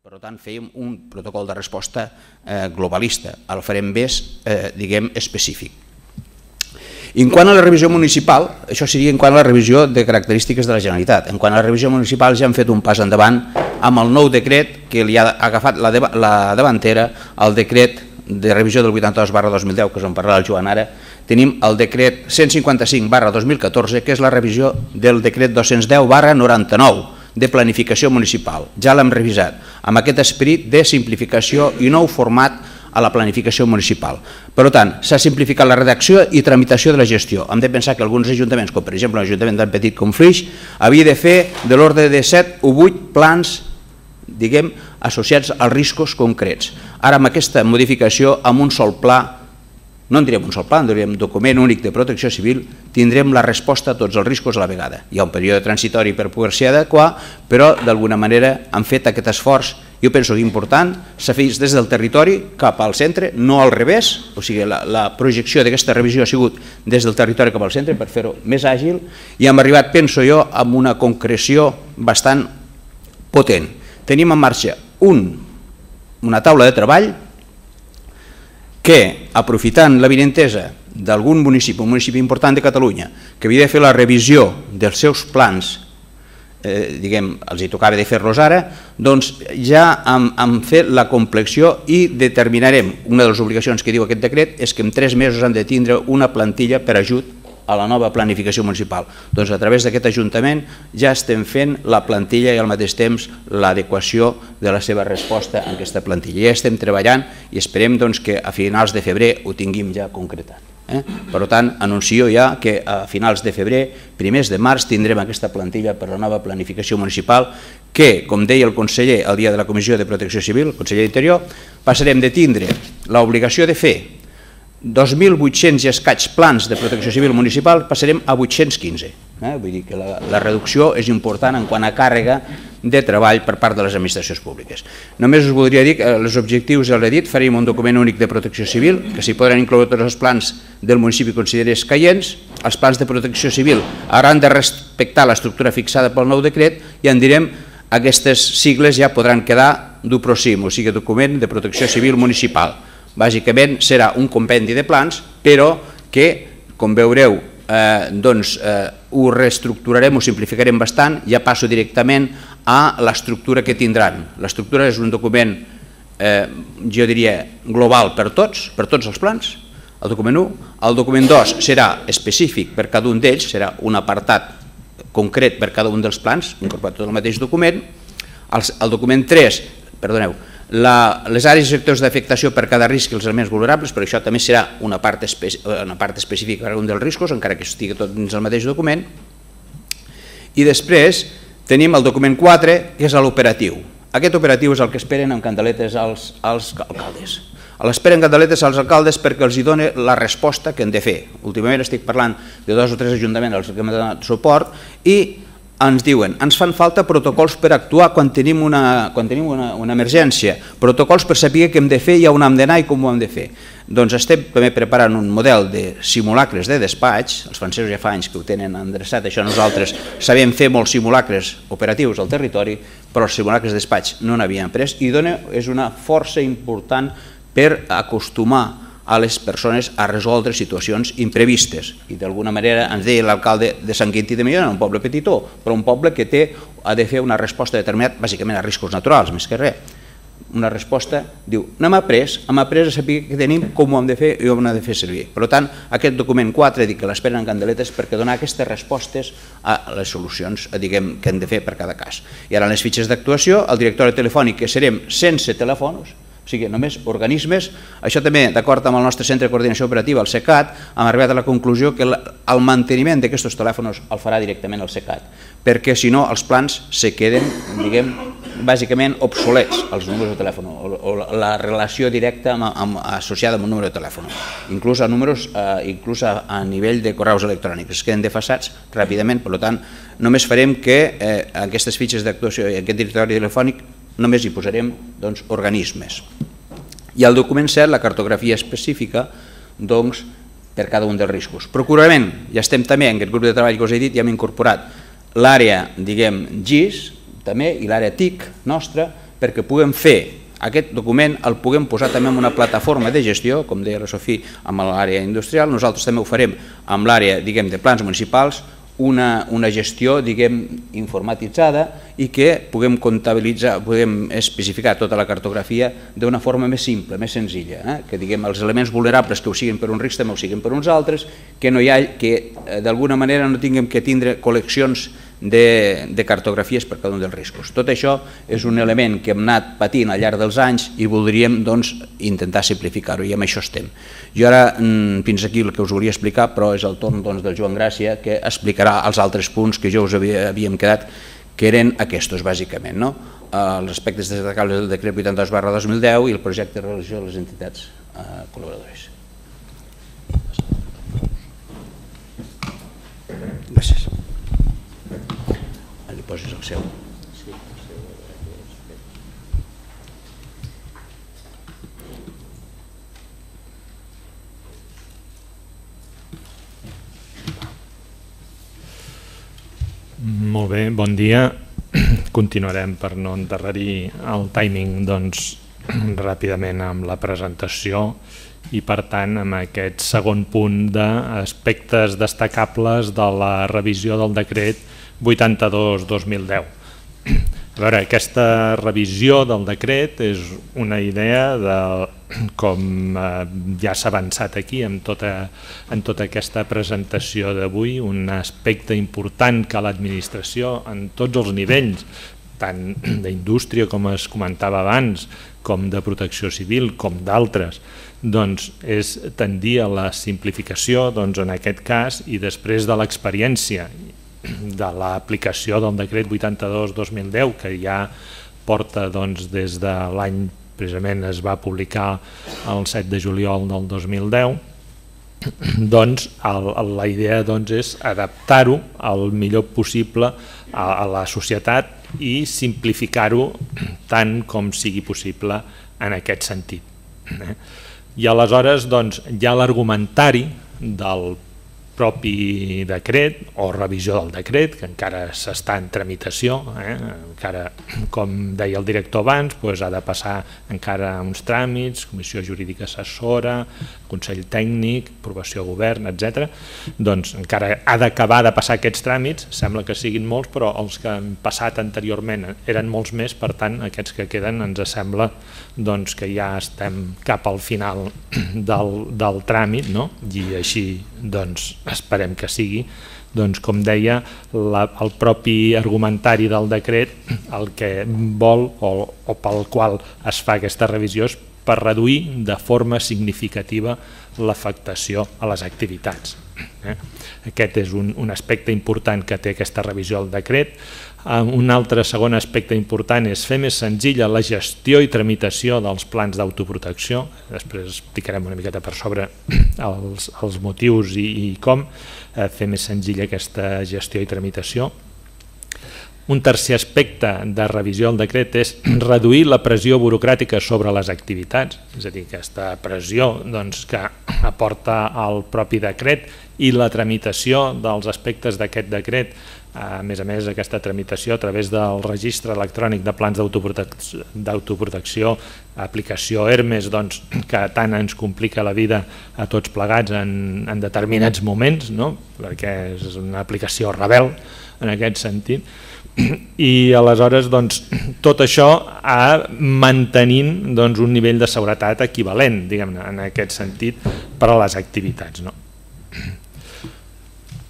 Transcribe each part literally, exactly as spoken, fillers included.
Per tant, fèiem un protocol de resposta globalista, el farem més, diguem, específic. En quant a la revisió municipal, això seria en quant a la revisió de característiques de la Generalitat. En quant a la revisió municipal ja hem fet un pas endavant amb el nou decret que li ha agafat la davantera al decret de revisió del vuitanta-dos barra dos mil deu, que és on parlarà el Joan ara. Tenim el decret cent cinquanta-cinc barra dos mil catorze, que és la revisió del decret dos-cents deu barra noranta-nou de planificació municipal. Ja l'hem revisat amb aquest esperit de simplificació i nou format a la planificació municipal. Per tant, s'ha simplificat la redacció i tramitació de la gestió. Hem de pensar que alguns ajuntaments, com per exemple l'Ajuntament tan petit com Flix, havia de fer de l'ordre de set o vuit plans, diguem, associats als riscos concrets. Ara, amb aquesta modificació, amb un sol pla, no en diríem un sol pla, en diríem document únic de protecció civil, tindrem la resposta a tots els riscos a la vegada. Hi ha un període transitori per poder-s'hi adequar, però d'alguna manera han fet aquest esforç, jo penso que important, s'ha fet des del territori cap al centre, no al revés, o sigui, la projecció d'aquesta revisió ha sigut des del territori cap al centre per fer-ho més àgil, i hem arribat, penso jo, amb una concreció bastant potent. Tenim en marxa una taula de treball que, aprofitant l'avinentesa d'algun municipi, un municipi important de Catalunya, que havia de fer la revisió dels seus plans, diguem, els hi tocava de fer-los ara, doncs ja hem fet la complexió i determinarem, una de les obligacions que diu aquest decret és que en tres mesos han de tindre una plantilla per ajut a la nova planificació municipal. Doncs a través d'aquest Ajuntament ja estem fent la plantilla i al mateix temps l'adequació de la seva resposta a aquesta plantilla. Ja estem treballant i esperem que a finals de febrer ho tinguem ja concretat. Per tant, anuncio ja que a finals de febrer, primers de març, tindrem aquesta plantilla per la nova planificació municipal que, com deia el conseller el dia de la Comissió de Protecció Civil, el conseller d'Interior, passarem de tindre l'obligació de fer dos mil vuit-cents i escaig plans de protecció civil municipal, passarem a vuit-cents quinze. Vull dir que la reducció és important en quant a càrrega de treball per part de les administracions públiques. Només us voldria dir que els objectius, ja l'he dit, faríem un document únic de protecció civil, que s'hi podran incloure tots els plans del municipi considerés escaients. Els plans de protecció civil hauran de respectar l'estructura fixada pel nou decret i en direm aquestes sigles ja podran quedar d'UPROCIM, o sigui, document de protecció civil municipal. Bàsicament serà un compendi de plans, però que, com veureu, doncs ho reestructurarem, ho simplificarem bastant, ja passo directament a l'estructura que tindran. L'estructura és un document, jo diria, global per tots, per tots els plans, el document u. El document dos serà específic per cada un d'ells, serà un apartat concret per cada un dels plans, incorporat tot el mateix document. El document tres, perdoneu, les àrees i sectors d'afectació per cada risc i els elements vulnerables, però això també serà una part específica per a un dels riscos, encara que estigui tot dins el mateix document. I després tenim el document quatre, que és l'operatiu. Aquest operatiu és el que esperen amb candeletes els alcaldes. L'esperen candeletes als alcaldes perquè els hi doni la resposta que han de fer. Últimament estic parlant de dos o tres ajuntaments als que hem donat suport i ens diuen, ens fan falta protocols per actuar quan tenim una emergència, protocols per saber què hem de fer i on hem d'anar i com ho hem de fer. Doncs estem també preparant un model de simulacres de despatx, els francesos ja fa anys que ho tenen endreçat, això nosaltres sabem fer molts simulacres operatius al territori, però els simulacres de despatx no n'havíem pres i és una força important per acostumar a les persones a resoldre situacions imprevistes. I d'alguna manera ens deia l'alcalde de Sant Quintí de Mediona, un poble petitó, però un poble que ha de fer una resposta determinada, bàsicament a riscos naturals, més que res. Una resposta, diu, n'hem après, hem après a saber què tenim, com ho hem de fer i on ho hem de fer servir. Per tant, aquest document quatre dic que l'esperen en candeletes perquè donar aquestes respostes a les solucions que hem de fer per cada cas. I ara en les fitxes d'actuació, el directori telefònic, que serem sense telèfons, o sigui, només organismes. Això també, d'acord amb el nostre centre de coordinació operativa, el SECAT, hem arribat a la conclusió que el manteniment d'aquests telèfons el farà directament el SECAT, perquè si no els plans se queden, diguem, bàsicament obsolets, els números de telèfon, o la relació directa associada amb un número de telèfon. Inclús a números, inclús a nivell de correus electrònics, es queden desfasats ràpidament, per tant, només farem que aquestes fitxes d'actuació i aquest directori telefònic només hi posarem organismes. I al document set, la cartografia específica per cada un dels riscos. Procurament, ja estem també en aquest grup de treball que us he dit, ja hem incorporat l'àrea, diguem, G I S, també, i l'àrea T I C nostra, perquè puguem fer aquest document, el puguem posar també en una plataforma de gestió, com deia la Sofia, amb l'àrea industrial. Nosaltres també ho farem amb l'àrea, diguem, de plans municipals, una, una gestió, diguem, informatitzada i que puguem comptabilitzar, puguem especificar tota la cartografia d'una forma més simple, més senzilla, eh? Que, diguem, els elements vulnerables que ho siguin per uns riscs també ho siguin per uns altres, que no hi ha, que d'alguna manera no tinguem que tindre col·leccions de, de cartografies per cada un dels riscos. Tot això és un element que hem anat patint al llarg dels anys i voldríem, doncs, intentar simplificar-ho, i amb això estem. Jo ara, fins aquí el que us volia explicar, però és el torn, doncs, del Joan Gràcia, que explicarà els altres punts que jo us havia, havíem quedat, que eren aquests, bàsicament, no? Els aspectes destacables del decret vuitanta-dos barra dos mil deu i el projecte de relació de les entitats eh, col·laboradores. Gràcies. Li poses el seu. Molt bé, bon dia. Continuarem, per no endarrerir el timing, doncs, ràpidament amb la presentació i, per tant, amb aquest segon punt d'aspectes destacables de la revisió del decret vuitanta-dos barra dos mil deu. A veure, aquesta revisió del decret és una idea de, com ja s'ha avançat aquí en tota, en tota aquesta presentació d'avui, un aspecte important que l'administració en tots els nivells, tant d'indústria com es comentava abans, com de protecció civil, com d'altres, doncs és tendir a la simplificació, doncs en aquest cas, i després de l'experiència de l'aplicació del decret vuitanta-dos barra dos mil deu, que ja porta doncs, des de l'any, precisament es va publicar el set de juliol del dos mil deu, doncs el, la idea doncs, és adaptar-ho el millor possible a, a la societat i simplificar-ho tant com sigui possible en aquest sentit. I aleshores doncs, hi ha l'argumentari del propi decret o revisió del decret, que encara s'està en tramitació, eh? Encara, com deia el director abans, doncs ha de passar encara uns tràmits, comissió jurídica assessora, consell tècnic, aprovació a govern, etcètera. Doncs encara ha d'acabar de passar aquests tràmits, sembla que siguin molts, però els que han passat anteriorment eren molts més, per tant aquests que queden ens sembla doncs, que ja estem cap al final del, del tràmit, no? I així doncs esperem que sigui, doncs com deia, la, el propi argumentari del decret el que vol o, o pel qual es fa aquesta revisió és per reduir de forma significativa l'afectació a les activitats. Eh? Aquest és un, un aspecte important que té aquesta revisió del decret. Un altre segon aspecte important és fer més senzilla la gestió i tramitació dels plans d'autoprotecció. Després explicarem una miqueta per sobre els, els motius i, i com eh, fer més senzilla aquesta gestió i tramitació. Un tercer aspecte de revisió del decret és reduir la pressió burocràtica sobre les activitats, és a dir, aquesta pressió doncs, que aporta el propi decret i la tramitació dels aspectes d'aquest decret. A més a més, aquesta tramitació a través del registre electrònic de plans d'autoprotecció, aplicació Hermes, doncs, que tant ens complica la vida a tots plegats en, en determinats moments, no? Perquè és una aplicació rebel en aquest sentit. I aleshores doncs, tot això ha mantenint doncs, un nivell de seguretat equivalent, diguem-ne, en aquest sentit, per a les activitats. No?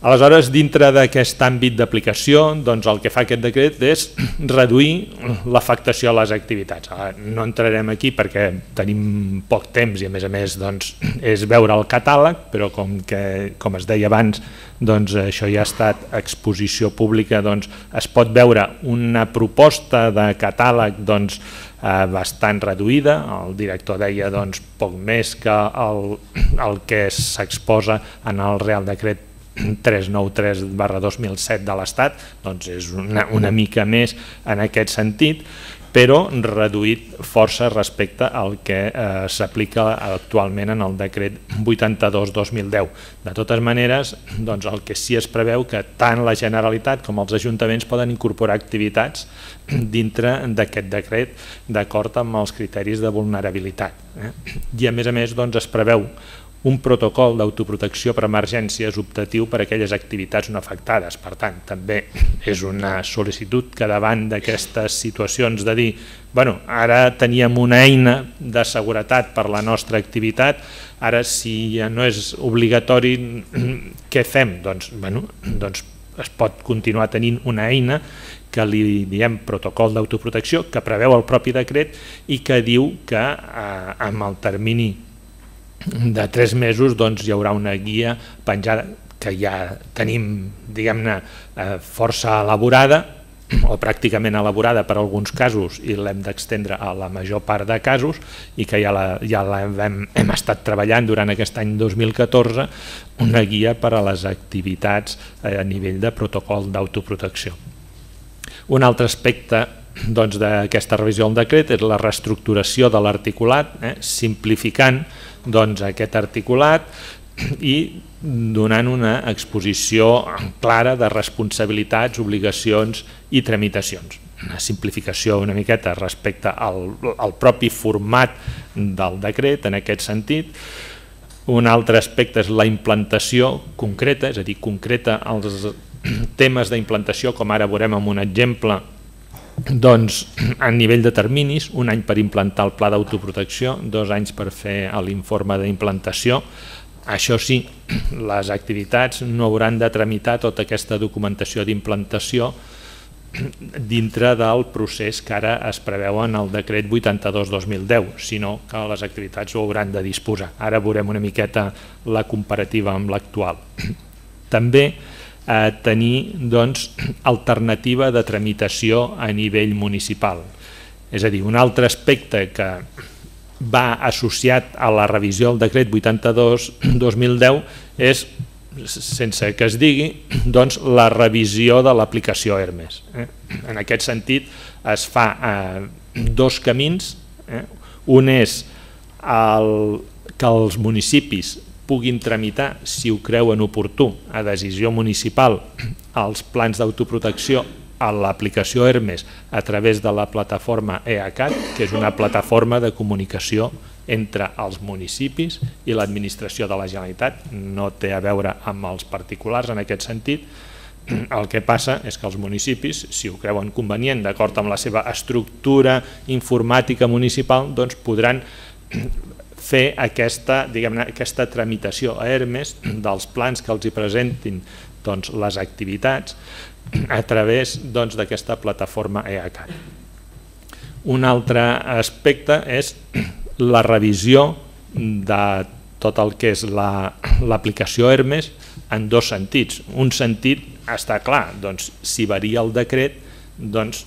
Aleshores, dintre d'aquest àmbit d'aplicació, doncs, el que fa aquest decret és reduir l'afectació a les activitats. No entrarem aquí perquè tenim poc temps i a més a més doncs, és veure el catàleg, però com, que, com es deia abans, doncs, això ja ha estat exposició pública, doncs, es pot veure una proposta de catàleg doncs, eh, bastant reduïda. El director deia doncs, poc més que el, el que s'exposa en el Real Decret tres cents noranta tres barra dos mil set de l'Estat, doncs és una, una mica més en aquest sentit, però reduït força respecte al que eh, s'aplica actualment en el decret vuitanta-dos dos mil deu. De totes maneres, doncs el que sí es preveu que tant la Generalitat com els ajuntaments poden incorporar activitats dintre d'aquest decret d'acord amb els criteris de vulnerabilitat. Eh? I a més a més doncs, es preveu un protocol d'autoprotecció per emergències optatiu per a aquelles activitats no afectades. Per tant, també és una sol·licitud que davant d'aquestes situacions de dir bueno, ara teníem una eina de seguretat per la nostra activitat, ara si ja no és obligatori, què fem? Doncs, bueno, doncs es pot continuar tenint una eina que li diem protocol d'autoprotecció, que preveu el propi decret i que diu que eh, amb el termini de tres mesos doncs, hi haurà una guia penjada que ja tenim diguem-ne força elaborada o pràcticament elaborada per alguns casos i l'hem d'extendre a la major part de casos i que ja la, ja la hem, hem estat treballant durant aquest any dos mil catorze, una guia per a les activitats a nivell de protocol d'autoprotecció. Un altre aspecte doncs, d'aquesta revisió del decret és la reestructuració de l'articulat, eh, simplificant doncs, aquest articulat i donant una exposició clara de responsabilitats, obligacions i tramitacions. Una simplificació una miqueta respecte al, al propi format del decret en aquest sentit. Un altre aspecte és la implantació concreta, és a dir, concreta els temes d'implantació, com ara veurem amb un exemple, doncs, a nivell de terminis, un any per implantar el pla d'autoprotecció, dos anys per fer l'informe d'implantació. Això sí, les activitats no hauran de tramitar tota aquesta documentació d'implantació dintre del procés que ara es preveu en el decret vuitanta-dos dos mil deu, sinó que les activitats ho hauran de disposar. Ara veurem una miqueta la comparativa amb l'actual. També a tenir doncs, alternativa de tramitació a nivell municipal. És a dir, un altre aspecte que va associat a la revisió del decret vuitanta-dos dos mil deu és, sense que es digui, doncs, la revisió de l'aplicació Hermes. Eh? En aquest sentit es fa eh, dos camins. Eh? Un és el, que els municipis puguin tramitar, si ho creuen oportú, a decisió municipal, els plans d'autoprotecció a l'aplicació Hermes a través de la plataforma E A C A T, que és una plataforma de comunicació entre els municipis i l'administració de la Generalitat. No té a veure amb els particulars en aquest sentit. El que passa és que els municipis, si ho creuen convenient, d'acord amb la seva estructura informàtica municipal, doncs podran fer aquesta, diguem-ne, aquesta tramitació a Hermes dels plans que els hi presentin doncs, les activitats a través doncs, d'aquesta plataforma E A C A T. Un altre aspecte és la revisió de tot el que és l'aplicació Hermes en dos sentits. Un sentit està clar, doncs, si varia el decret, doncs,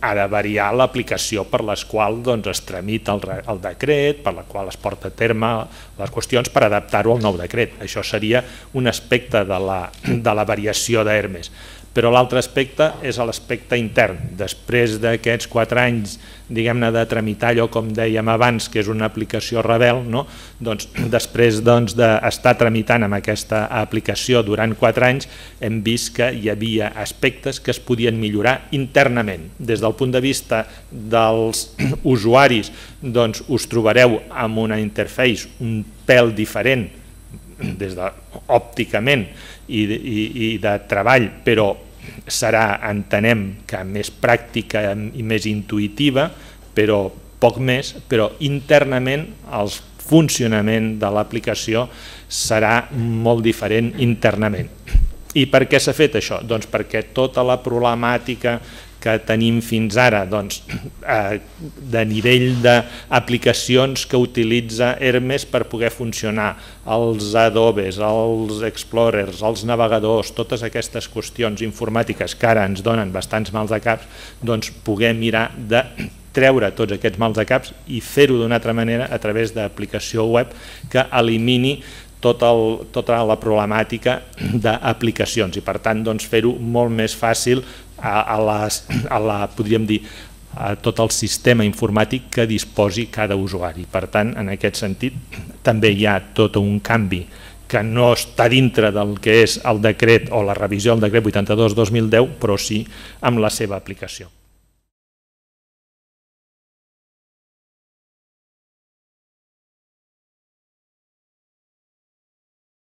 ha de variar l'aplicació per les quals doncs, es tramita el, el decret, per la qual es porta a terme les qüestions per adaptar-ho al nou decret. Això seria un aspecte de la, de la variació d'Hermes. Però l'altre aspecte és l'aspecte intern. Després d'aquests quatre anys diguem-ne de tramitar allò, com dèiem abans, que és una aplicació rebel, no? Doncs, després doncs, d'estar tramitant amb aquesta aplicació durant quatre anys, hem vist que hi havia aspectes que es podien millorar internament. Des del punt de vista dels usuaris, doncs, us trobareu amb una interface un pèl diferent, des de, òpticament i, i, i de treball, però serà, entenem, que més pràctica i més intuïtiva, però poc més, però internament el funcionament de l'aplicació serà molt diferent internament. I per què s'ha fet això? Doncs perquè tota la problemàtica que tenim fins ara doncs, eh, de nivell d'aplicacions que utilitza Hermes per poder funcionar, els Adobes, els Explorers, els navegadors, totes aquestes qüestions informàtiques que ara ens donen bastants mals de caps, doncs poder mirar de treure tots aquests mals de caps i fer-ho d'una altra manera a través d'aplicació web que elimini tot el, tota la problemàtica d'aplicacions i per tant doncs, fer-ho molt més fàcil a, a, les, a la, podríem dir, a tot el sistema informàtic que disposi cada usuari. Per tant, en aquest sentit, també hi ha tot un canvi que no està dintre del que és el decret o la revisió del decret vuitanta-dos dos mil deu, però sí amb la seva aplicació.